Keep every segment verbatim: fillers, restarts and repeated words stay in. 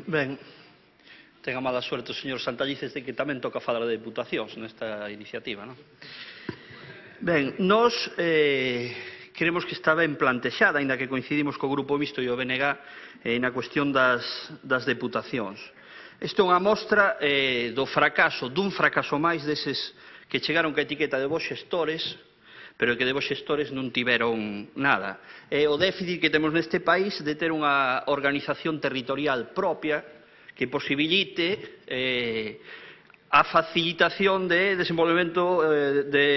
Ben, ten a mala suerte o señor Santallices de que tamén toca falar de deputacións nesta iniciativa, non? Ben, nós eh, creemos que está ben plantexada, aínda que coincidimos co Grupo Mixto e o B N G eh, na cuestión das, das deputacións. Isto é unha mostra eh, do fracaso, dun fracaso máis deses que chegaron ca etiqueta de vos xestores, pero que de vos xestores non tiveron nada. É o déficit que temos neste país de ter unha organización territorial propia que posibilite eh, a facilitación de desenvolvemento eh, de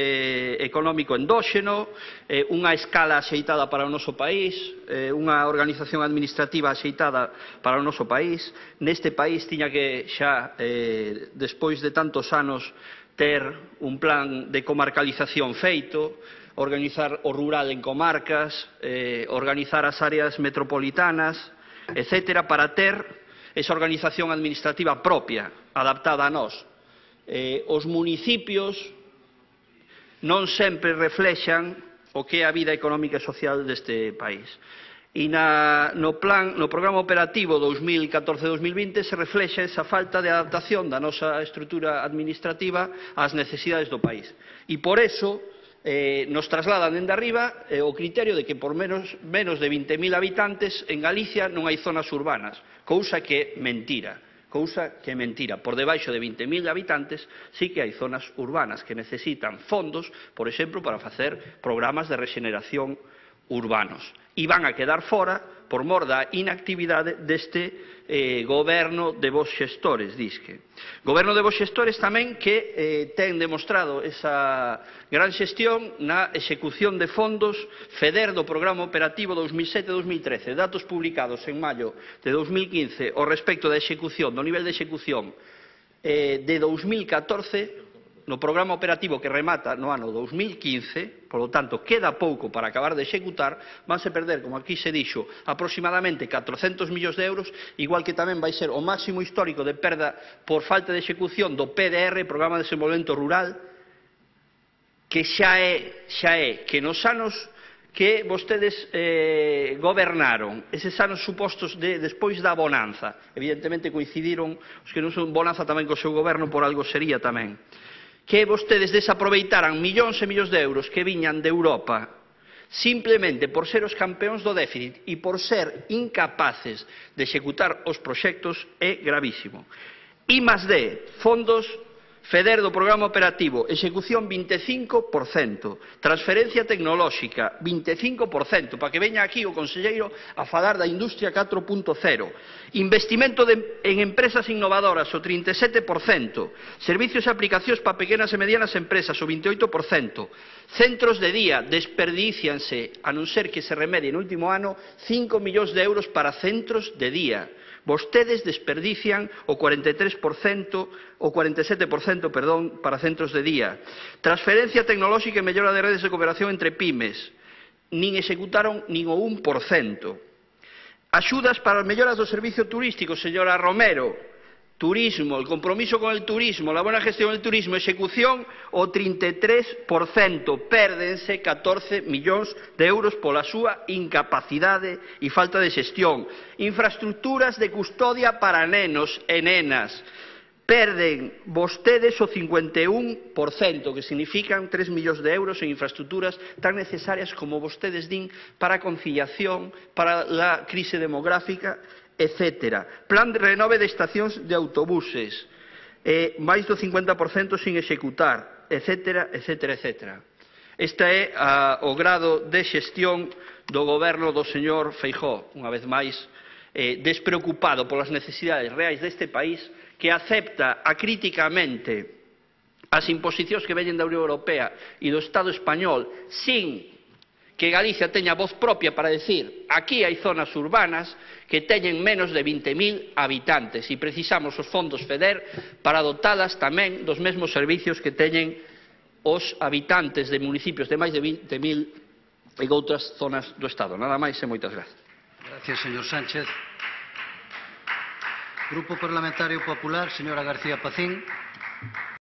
económico endóxeno, eh, unha escala axeitada para o noso país, eh, unha organización administrativa axeitada para o noso país. Neste país tiña que xa, eh, despois de tantos anos, ter un plan de comarcalización feito, organizar o rural en comarcas, eh, organizar as áreas metropolitanas, etcétera, para ter esa organización administrativa propia, adaptada a nós. Eh, os municipios non sempre reflexan o que é a vida económica e social deste país. E na, no, plan, no programa operativo dos mil catorce a dos mil vinte se reflexa esa falta de adaptación da nosa estrutura administrativa ás necesidades do país. E por eso eh, nos trasladan dende arriba eh, o criterio de que por menos, menos de vinte mil habitantes en Galicia non hai zonas urbanas, cousa que é mentira. Cousa que é mentira. Por debaixo de vinte mil habitantes sí que hai zonas urbanas que necesitan fondos, por exemplo, para facer programas de rexeneración urbanos. E van a quedar fora por mor da inactividade deste eh, goberno de vos xestores, disque. Goberno de vos xestores tamén que eh, ten demostrado esa gran xestión na execución de fondos FEDER do Programa Operativo dos mil sete a dos mil trece. Datos publicados en maio de dos mil quince ao respecto da execución, do nivel de execución eh, de dos mil catorce, no programa operativo que remata no ano dos mil quince, polo tanto, queda pouco para acabar de executar, vanse perder, como aquí se dixo, aproximadamente catrocentos millóns de euros, igual que tamén vai ser o máximo histórico de perda por falta de execución do P D R, Programa de Desenvolvemento Rural, que xa é, xa é que nos anos que vostedes eh, gobernaron, eses anos supostos de, despois da bonanza, evidentemente coincidiron os que non son bonanza tamén co seu goberno, por algo sería tamén, que vostedes desaproveitaran millóns e millóns de euros que viñan de Europa simplemente por ser os campeóns do déficit e por ser incapaces de executar os proxectos é gravísimo. I más D, fondos FEDER do Programa Operativo, execución vinte e cinco por cento, transferencia tecnolóxica vinte e cinco por cento, para que veña aquí o conselleiro a falar da industria catro punto cero, investimento de, en empresas innovadoras o trinta e sete por cento, servicios e aplicacións para pequenas e medianas empresas o vinte e oito por cento, centros de día, desperdícianse, a non ser que se remedie no último ano, cinco millóns de euros para centros de día. Vostedes desperdician o cuarenta e tres por cento, o cuarenta e sete por cento, perdón, para centros de día. Transferencia tecnolóxica e mellora de redes de cooperación entre pymes. Nin executaron nin o un por cento. Axudas para as melloras do servicio turístico, señora Romero. Turismo, el compromiso con el turismo, la buena gestión del turismo, execución o trinta e tres por cento, pérdense catorce millóns de euros pola súa incapacidade e falta de xestión. Infraestructuras de custodia para nenos e nenas, perden vostedes o cincuenta e un por cento, que significan tres millóns de euros en infraestructuras tan necesarias como vostedes din para a conciliación, para a crise demográfica, etcétera. Plan de renove de estacións de autobuses, eh, máis do cincuenta por cento sin executar, etcétera, etcétera, etcétera. Este é a, o grado de xestión do goberno do señor Feijóo, unha vez máis, eh, despreocupado polas necesidades reais deste país, que acepta acríticamente as imposicións que veñen da Unión Europea e do Estado español sin que Galicia teña voz propia para decir aquí hai zonas urbanas que teñen menos de vinte mil habitantes e precisamos os fondos FEDER para dotalas tamén dos mesmos servicios que teñen os habitantes de municipios de máis de vinte mil e outras zonas do Estado. Nada máis e moitas gracias. Gracias, señor Sánchez. Grupo Parlamentario Popular, señora García Pacín.